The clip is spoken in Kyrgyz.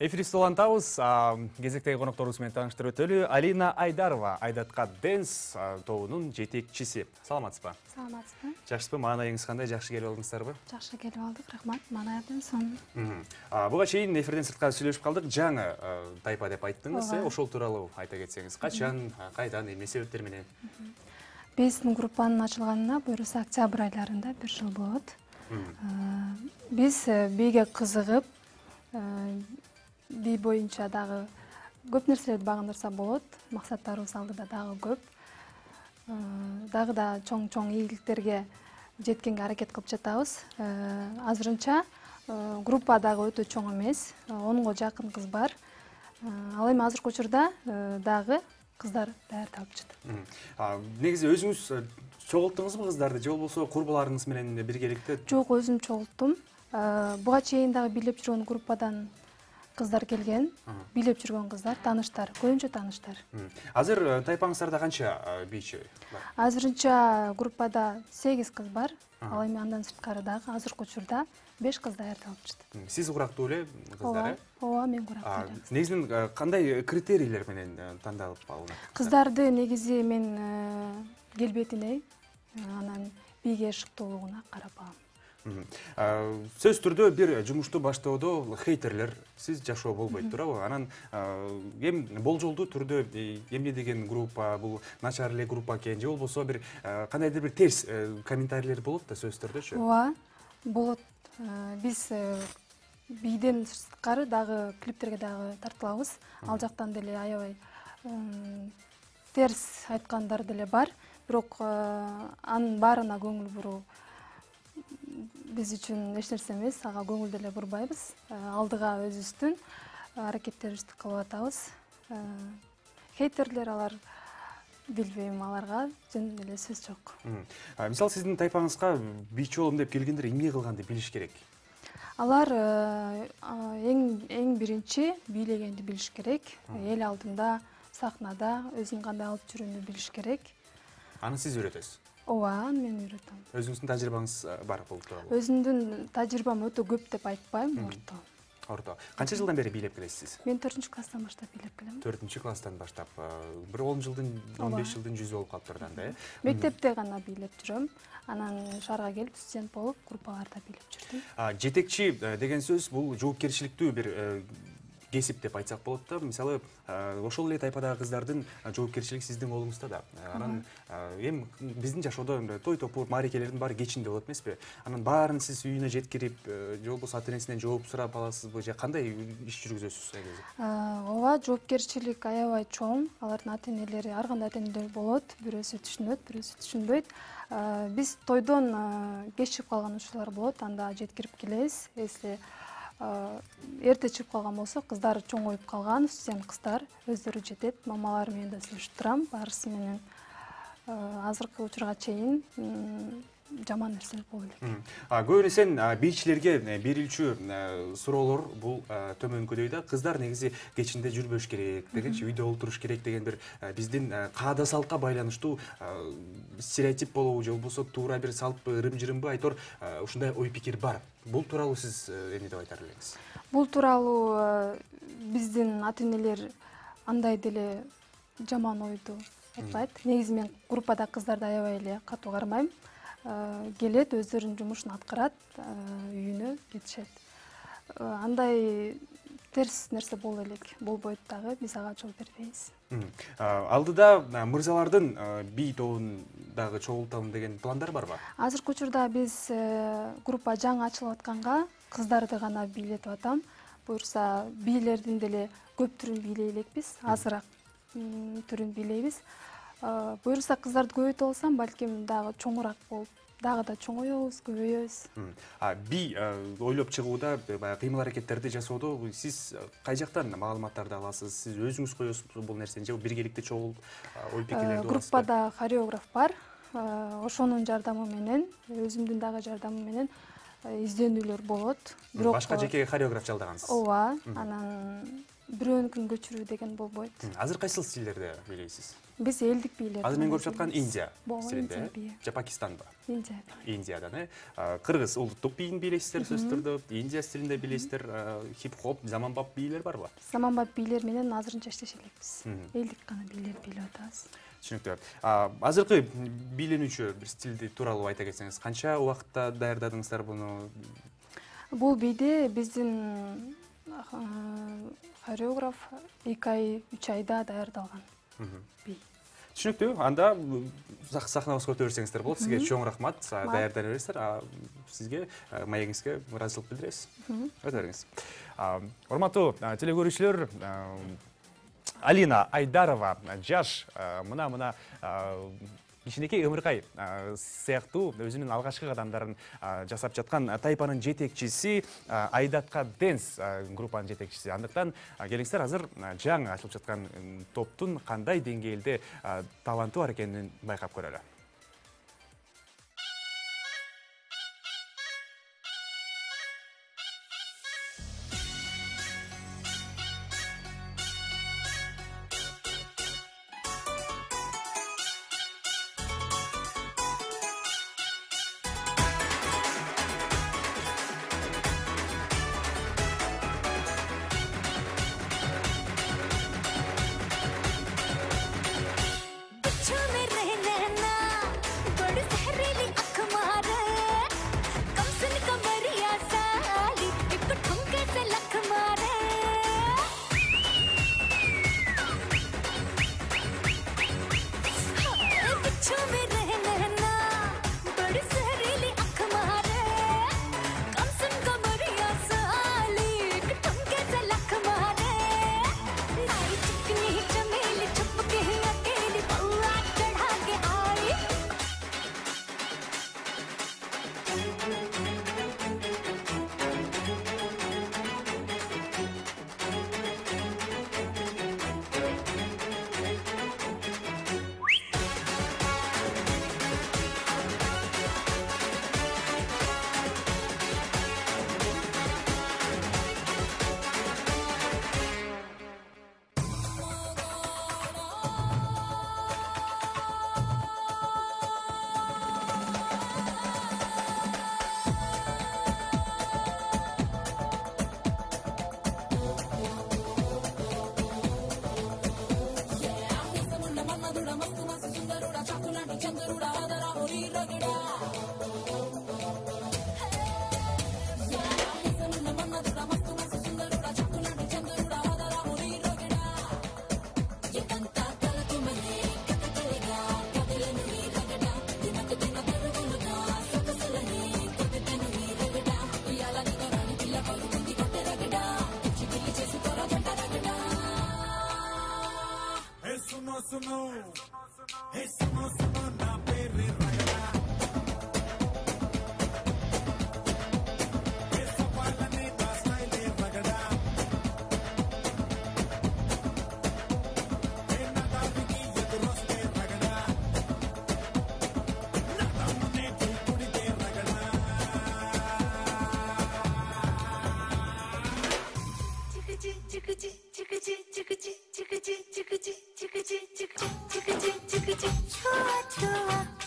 Эфиристи улантабыз. Кезектеги конокторубуз менен тааныштырып өтөлү. Алина Айдарова Айдатка Dance тобунун жетекчиси. Саламатсызбы? Саламатсызбы? Жакшысызбы? Маанайыңыз кандай? Жакшы келип алдыңыздарбы? Жакшы келип алдык, рахмат. Маанайдын сон. Буга чейин эфирден сырткары сүйлөшүп калдык. Жаңы тайпа деп айттыңыз. Ошол тууралуу айта кетсеңиз. Качан, кайдан, эмне себептер менен? Биздин группанын ачылганына буюрса октябрь айларында 1 жыл болот. Биз бийге кызыгып, бий боюнча дагы көп нерселерди багындырса болот. Максаттарыбыз алдыда дагы көп. Дагы да чоң ийгиликтерге жеткенге аракет кылып жатабыз. Азырынча группа дагы өтө чоң эмес. 10го жакын кыз бар. Ал эми азыркы учурда дагы кыздар даярдалып жатат. Негизи өзүңүз чогулттуңузбу кыздарды же болбосо курбуларыңыз менен биргеликте? Жок, өзүм чогулттум. Буга чейин дагы бийлеп жүргөн группадан кыздар келген, бийлеп жүргөн кыздар, тааныштар, көбүнчө тааныштар. Азыр тайпаңыздарда канча бийчи бар? Азырынча группада 8 кыз бар. Ал эми андан сырткары дагы азыркы учурда 5 кыз даярдалып жатат. Сиз курактуу эле кыздар, Ооба, мен курактуу эле. Негизинен кандай критерийлер менен тандалып алынат? Кыздарды негизи мен келбетине, анан бийге шыктуулугуна карап алам. Сөз түрдө бир жумушту баштоодо хейтерлер сиз жашоо болбойт, туурабы? Анан эми болжолдуу түрдө эмне деген группа, бул начар эле группа экен же болбосо бир кандайдыр бир терс комментарийлер болот да сөз түрдөчү? Ооба, болот. Биз бийден сырткары дагы клиптерге дагы тартылабыз. Ал жактан деле аябай терс айткандар деле бар. Бирок анын баарына көңүл буруу биз үчүн эч нерсе эмес, ага көңүл деле бурбайбыз. Алдыга өзүбүздүн аракеттерибизди кылып атабыз. Хейтерлер алар билбейм, аларга жөн эле сөз жок. Мисалы сиздин тайпаңызга бийчи болом деп келгендер эмне кылганды билиш керек? Алар эң биринчи бийлегенди билиш керек. Эл алдында, сахнада өзүн кандай алып жүрүүнү билиш керек. Аны сиз үйрөтөсүз? Ооба, мен үйрөтөм. Өзүңүздүн тажрыйбаңыз бар бул тууралуу? Өзүмдүн тажрыйбам өтө көп деп айтпайм, орто. Орто. Канча жылдан бери бийлеп келесиз? Мен 4-класстан баштап бийлеп келем. 4-класстан баштап. Бир 10 жылдын, 15 жылдын жүзү болуп калыптыр да, э? Мектепте гана бийлеп жүрөм. Анан шаарга келип студент болуп, группаларда бийлеп жүрдүм. Жетекчи деген сөз бул жоопкерчиликтүү бир кесип деп айтсак болот да. Мисалы, ошол эле тайпадагы кыздардын жоопкерчилиги сиздин колуңузда да. Анан эми биздин жашоодо той топур, мааракелердин баары кечинде болот эмеспи? Анан баарын сиз үйүнө жеткирип, же болбосо ата-энесинен жооп сурап аласызбы, же кандай иш жүргүзөсүз? Ооба, жоопкерчилик аябай чоң. Алардын ата-энелери, ар кандай ата-энелер болот. Бирөөсү түшүнөт, бирөөсү түшүнбөйт. Биз тойдон кеч чыгып калган учурлар болот, анда жеткирип келебиз. Если эрте чыгып калган болсо, кыздар чоңоюп калган, студент кыздар өздөрү жетет. Мамалары менен да сүйлөшүп турам, баарысы менен азыркы учурга чейин жаман нерселер боло элек. Көбүнесе бийчилерге берилчү суроолор бул төмөнкүдөй да. Кыздар негизи кечинде жүрбөш керек дегенчи, үйдө олтуруш керек деген бир биздин каада салтка байланыштуу стереотип болобу, же болбосо туура бир салтпы, ырым-жырымбы, айтор ушундай ой пикир бар. Бул тууралуу сиз эмне деп айтар элеңиз? Бул тууралуу биздин ата-энелер андай деле жаман ойду айтпайт. Негизи мен группада кыздарды аябай эле катуу кармайм. Келет, өздөрүнүн жумушун аткарат, үйүнө кетишет. Андай терс нерсе боло элек, болбойт дагы, биз ага жол бербейбиз. Алдыда мырзалардын бий тобундагы чогултам деген пландар барбы? Азыркы учурда биз группа жаңы ачылып атканга кыздарды гана бийлетип атам. Буюрса бийлердин деле көп түрүн бийлей элекпиз, азыраак түрүн бийлейбиз. Буюрса кыздарды көбөйтө алсам, балким дагы чоңураак болуп, дагы да чоңоёбуз, көбөйөбүз. Бий ойлоп чыгууда, кыймыл аракеттерди жасоодо сиз кай жактан маалыматтарды аласыз? Сиз өзүңүз коесузбу бул нерсени, же биргеликте чогулуп ой пикирлерди урасызбы? Группада хореограф бар. Ошонун жардамы менен, өзүмдүн дагы жардамым менен изденүүлөр болот. Башка жеке хореограф жалдагансыз? Ооба, анан бирөөнүкүн көчүрүү деген болбойт. Азыр кайсыл стилдерди бийлейсиз? Биз элдик бийлер. Азыр мен көрүп жаткан Индия Индия стилинде, бийи. же Пакистанба? Индия. Индиядан, кыргыз улуттук бийин бийлейсиздер сөзсүз түрдө, Индия стилинде бийлейсиздер, хип-хоп, заманбап бийлер барбы? Заманбап бийлер менен азырынча иштеше элекпиз. Элдик гана бийлер бийлеп атабыз. Түшүнүктүү. Азыркы бийлөнүүчү бир стилди тууралуу айта кетсеңиз, канча убакытта даярдадыңыздар буну? Бул бийди биздин хореограф 2 ай, 3 айда даярдалган бий. Түшүнүктүү. Анда сахнабызга өтө берсеңиздер болот. Сизге чоң рахмат. Даярдана бересиздер. Сизге маегиңизге ыраазычылык билдиребиз. Өтө бериңиз. Урматтуу теле көрүүчүлөр, Алина Айдарова жаш мына кичинекей Ымыркай сыяктуу өзүнүн алгачкы кадамдарын жасап жаткан тайпанын жетекчиси, Айдатка Dance группанын жетекчиси. Андыктан келиңиздер азыр жаңы ачылып жаткан топтун кандай деңгээлде таланты бар экенин байкап көрөлү. Chua chua